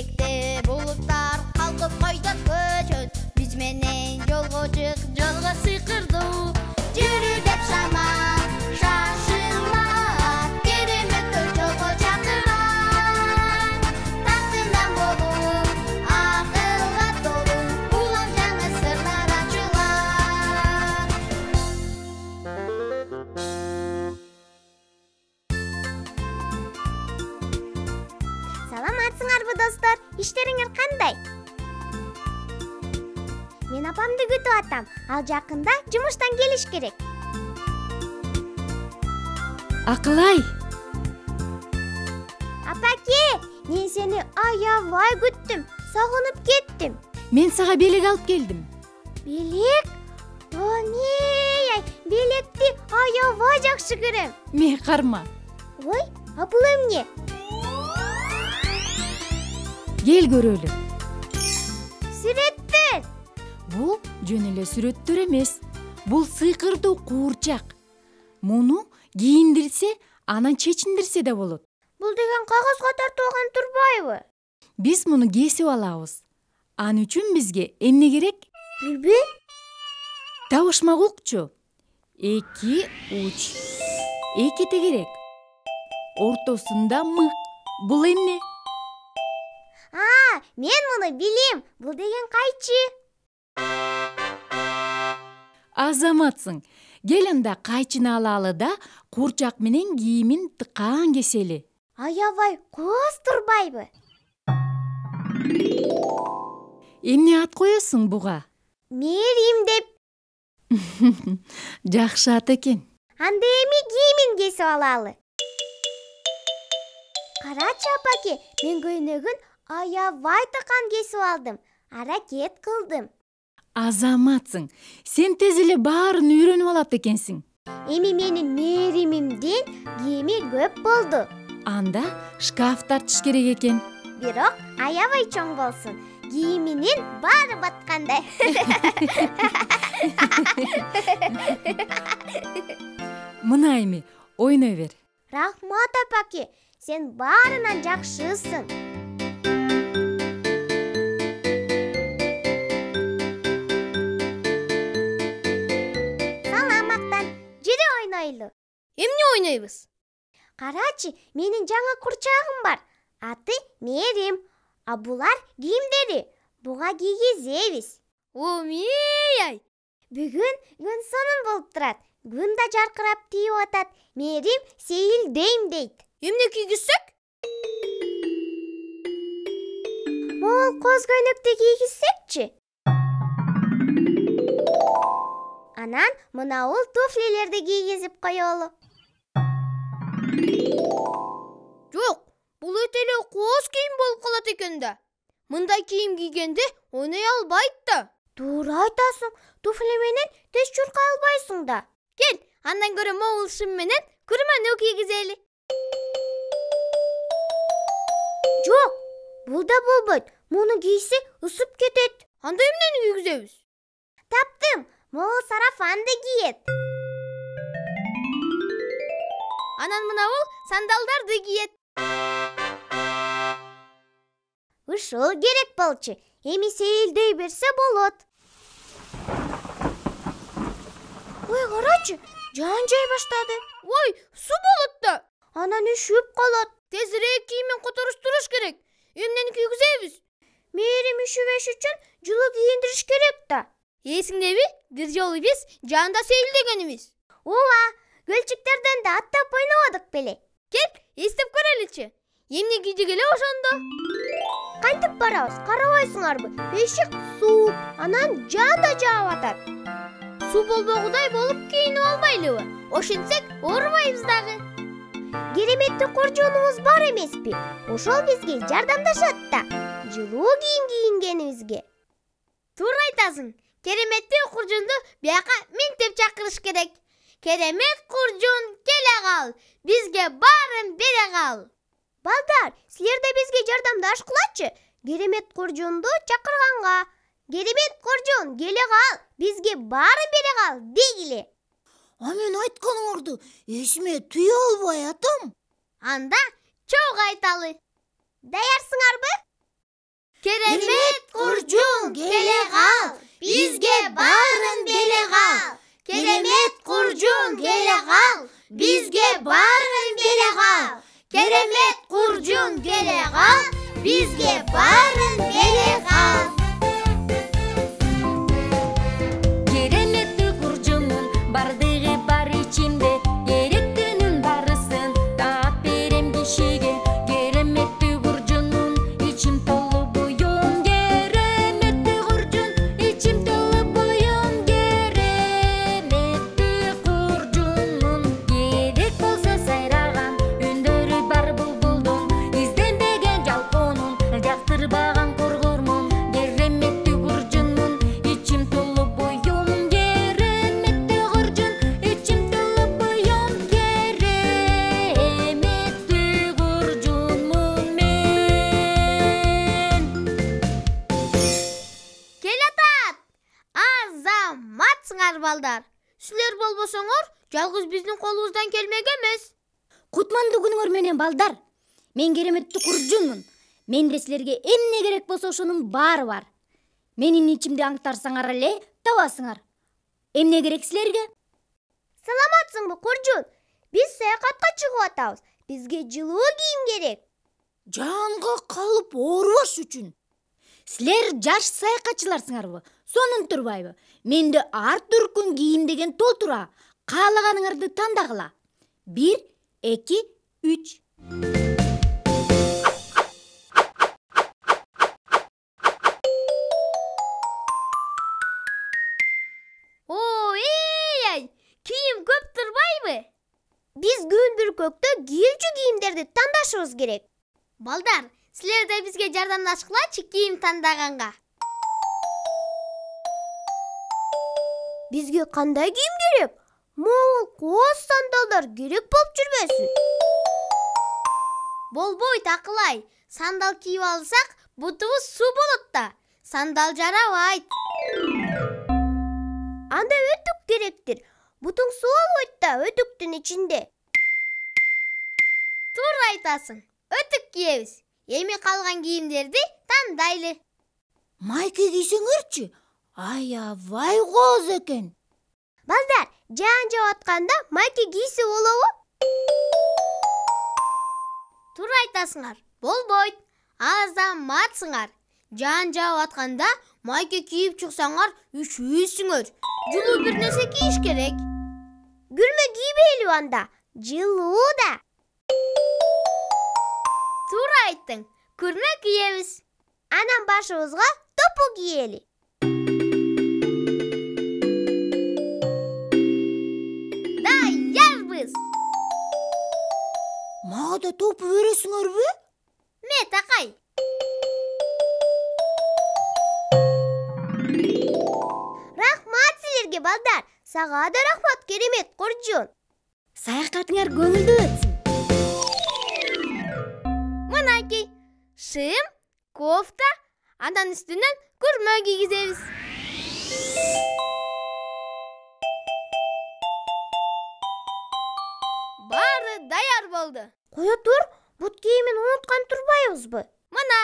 Бийликте булуттар калкып койдот көчөт. Биз менен жолго чык, жолго сыйкырдуу. Жүрү деп шамат, шашылма. Кереметтер жолго чакырат. Тактынан болуп, акылга толуу. Улам жаңы сырлар ачылат. Саламатсыңарбы достор? Иштериңер кандай? Мен апамды күтүп атам. Ал жакында жумуштан келиш керек. Акылай, Апаке, мен сени аябай күттүм. Сагынып кеттим. мен сага белек алып келдим. Белек? Ай, белекти аябай жакшы көрөм. Мeh карма. Ой, а бул эмне? Кел көрөлү. Сүрөттөр. Бул жөн эле сүрөттөр эмес. Бул сыйкырдуу куурчак. Муну кийиндирсе, анан чечиндирсе да болот. Бул деген кагазга тартылган турбайбы? Биз муну кесип алабыз. Ал үчүн бизге эмне керек? Билбейм. Табышмак укчу. 2 уч. 2 тегерек. Ортосунда мык. Бул эмне? Мен муну билем. Бул деген кайчы. Азаматсың. Кел анда кайчыны алалы да куурчак менен кийимин тыкаан кесели. Аябай кооз турбайбы? Эмне ат коесуң буга? Мерим деп. Жакшы ат экен. Анда эми кийимин кесип алалы. Карачы апаке, мен көйнөгүн аябай тыккан кесип алдым. Аракет кылдым. Азаматсың. Сен тез эле баарын үйрөнүп алат экенсиң. Эми менин меримимдин кийими көп болду. Анда шкаф тартыш керек экен. Бирок аябай чоң болсун. Кийиминин баары баткандай. Мына эми ойной бер. Рахмат апаке, сен баарынан жакшысың. Саламаттан, жүрү ойнойлу. Эмне ойнойбуз? Карачы, менин жаңы курчагым бар. Аты Мерим. А булар кийимдери. Буга кийгизебиз. Ай. Бүгүн күн сонун болуп турат. Күн да жаркырап тийип атат. Мерим сейилдейм дейт. Эмне кийгизсек? Могул коз көйнөктү кийгизсекчи? Анан мынабул туфлилерди кийгизип коелу. Жок, бул өтө эле кооз кийим болуп калат экен да. Мындай кийим кийгенде ойной албайт да. Туура айтасың. Туфли менен тез чуркай албайсың да. Кел, андан көрө могул шым менен күрмөнү кийгизели. Жок, бул да болбойт. Муну кийсе ысып кетет. Анда эмнени кийгизебиз? Таптым. Могул сарафанды кийет. Анан мынабул сандалдарды кийет. Ушул керек болчу. Эми сейилдей берсе болот. Ой, карачы, жан жай баштады. Ой, суу болот да. Анан үшүп калат. Тезирээк кийимин которуштуруш керек. Эмнени кийгизебиз? Мерим үшүбөш үчүн жылуу кийиндириш керек да. Эсиңдеби? Бир жолу биз жаанда сейилдегенибиз. Ооба, көлчүктөрдөн да аттап ойнободук беле. Кел, эстеп көрөлүчү. Эмне кийдик эле ошондо? Кантип барабыз? Карабайсыңарбы? Бешик сууп, анан жан да жаап атат. Суу болбогудай болуп кийинип албайлыбы? Ошентсек оорубайбыз дагы. Кереметтүү куржунубуз бар эмеспи? Ошол бизге жардамдашат да. Жылуу кийим кийингенибизге. Туура айтасың. Кереметтүү куржунду бияка миңтеп чакырыш керек. Керемет куржун, келе кал. Бизге баарын бере кал. Балдар, силер да бизге жардамдашкылачы. Керемет куржунду чакырганга. Керемет куржун, келе кал. Бизге баарын бере кал, дегиле. А мен айтканыңарды эсиме түйө албай атам. Анда чогуу айталы. Даярсыңарбы? Керемет куржун келе кал, бизге баарын бере кал. Керемет куржун келе кал, бизге баарын бере кал. Керемет куржун келе кал, бизге баарын бере кал. Кереметтүү куржунун бардыгы бар ичимде, керектүүнүн барысын таап берем кишиге. Кереметтүү куржунун ичим толу буюн, кереметтүү куржун ичим толу буюн. Кереметтүү куржунун керек болсо сайраган үндөрү бар булбулдун, изденбеген жалкоонун жактырбаган коргормун. Кереметтүү куржунун ичим толу буюн, кереметтүү куржун ичим толу буюн. Кереметтүү куржунмун мен. Келатат! Азаматсыңар балдар. Силер болбосоңор, жалгыз биздин колубуздан келмек эмес. Кутмандуу күнүңөр менен балдар. Мен кереметтүү куржунмун. Менде силерге эмне керек болсо ошонун баары бар. Менин ичимди аңтарсаңар эле табасыңар. Эмне керек силерге? Саламатсыңбы куржун? Биз саякатка чыгып атабыз. Бизге жылуу кийим керек. Жанга калып оорубаш үчүн. Силер жаш саякатчыларсыңарбы? Сонун турбайбы? Менде ар түркүн кийим деген толтура. Каалаганыңарды тандагыла. 1, 2, 3. Ой, кийим көп турбайбы? Биз күн бүркөктө кийүүчү кийимдерди тандашыбыз керек. Балдар, силер да бизге жардамдашкылачы кийим тандаганга. Бизге кандай кийим керек? Могул кооз сандалдар керек болуп жүрбөсүн? Болбойт акылай. Сандал кийип алсак, бутубуз суу болот да. Сандал жарабайт. Анда өтүк керектир. Бутуң суу албайт да өтүктүн ичинде. Туура айтасың. Өтүк кийебиз. Эми калган кийимдерди тандайлы. Майке кийсеңерчи? Аябай кооз экен. Балдар, жаан жаап атканда майке кийсе болобу? Туура айтасыңар. Болбойт. Азаматсыңар. Жаан жаап атканда майке кийип чыксаңар үшүүсүңөр. Жылуу бир нерсе кийиш керек. Күрмө кийбейли анда. Жылуу да. Туура айттың. Күрмө кийебиз. Анан башыбызга топу кийели. Даярбыз. Мага да топу бересиңерби? Мет акай. Рахмат силерге балдар. Сага да рахмат керемет куржун. Саякатыңар көңүлдүү өтсүн. Мынакей. Шым, кофта, андан үстүнөн күрмө кийгизебиз. Баары даяр болду. Кое тур, бут кийимин унуткан турбайбызбы? Мына,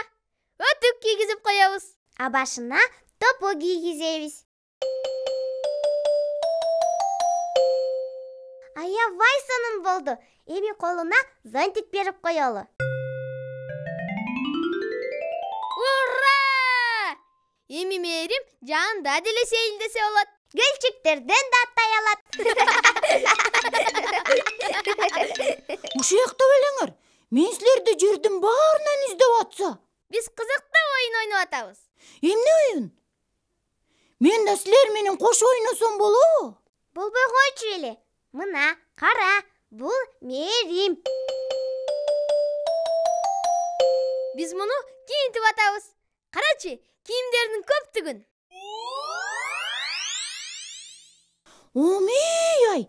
өтүк кийгизип коебуз. А башына топу кийгизебиз. Аябай сонун болду. Эми колуна зонтик берип коелу. Ура! Эми мээрим жаанда деле сейилдесе болот. Гүлчүктөрдөн да аттай алат. Ушуякта белеңер. Мен силерди жердин баарынан издеп атса. Биз кызыктуу оюн ойноп атабыз. Эмне оюн? Мен да силер менен кошо ойносом болобу? Болбой койчу эле. Мына, кара, бул мээрим. Биз муну кийинтип атабыз. Карачы, кийимдердин көптүгүн. Омей-ай,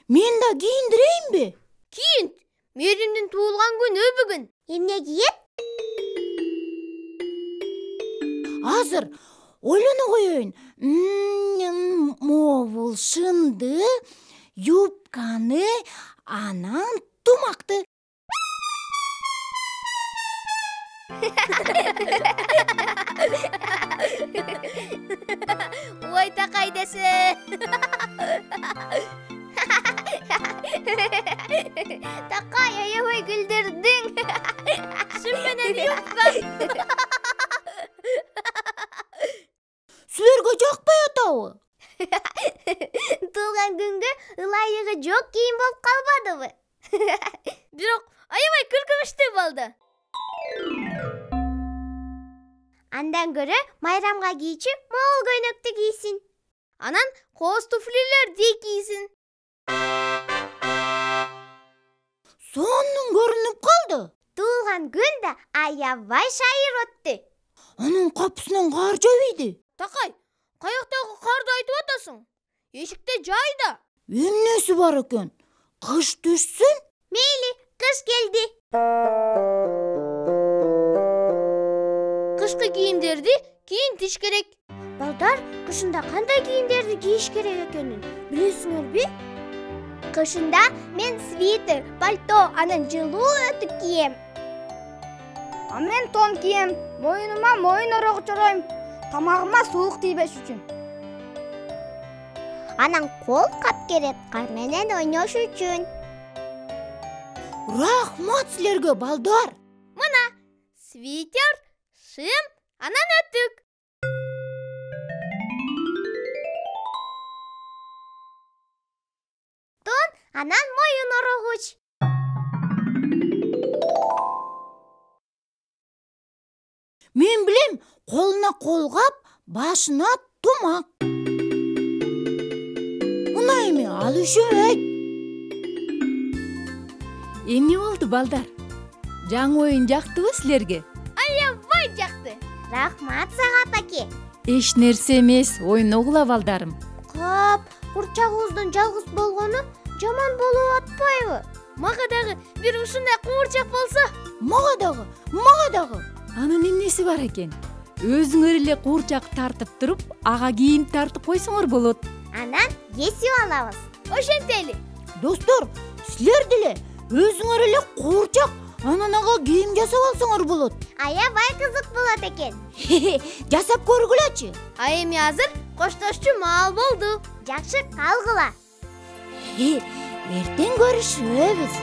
мен да кийиндирейинби? Кийинт. Мээримдин туулган күнү бүгүн. Эмне кийет? Азыр ойлоно коеюн. Мобул шымды, юбканы, анан тумакты. Ой такай десе. Такай аябай күлдүрдүң. Шын менен юппа. Силерге жакпай атабы? Туулган күнгө ылайыгы жок кийим болуп калбадыбы? Бирок аябай күлкүнүчтүү болду. Андан көрө майрамга кийчи могул көйнөктү кийсин. Анан кооз туфлилерди кийсин. Сонун көрүнүп калды. Туулган күн да аябай шайыр өттү. Анын капысынан кар жабыйды. Такай, каяктагы карды айтып атасың? Эшикте жайда. Эмнеси бар экен? Кыш түшсүн? Мейли, кыш келди. Кышкы кийимдерди кийинтиш керек. Балдар, кышында кандай кийимдерди кийиш керек экенин билесиңерби? Кышында мен свитер, пальто, анан жылуу өтүк кийем. А мен тон кийем, моюнума моюн орогу чоройм, тамагыма суук тийбеш үчүн. Анан кол кап керек кар менен ойнош үчүн. Рахмат силерге, балдар. Мына свитер, шым, анан өтүк. Тон, анан моюн орогуч. Мен билем, колуна колгап, башына тумак. Мына эми ал үшөбөйт. Эмне болду, балдар? Жаңы оюн жактыбы силерге? Аябай жакты. Рахмат сага, апаке. Эч нерсе эмес, ойногула, балдарым. Кап, курчагыбыздын жалгыз болгону жаман болуп атпайбы? Мага дагы бир ушундай куурчак болсо. Мага дагы. Анын эмнеси бар экен? Өзүңөр эле куурчак тартып туруп, ага кийим тартып койсоңор болот. Анан кесип алабыз. Ошентели. Достор, силер деле өзүңөр эле куурчак, анан ага кийим жасап алсаңар болот. Аябай кызык болот экен. Жасап көргүлөчү. А эми азыр коштошчу маал болду. Жакшы калгыла. Эртең көрүшөбүз.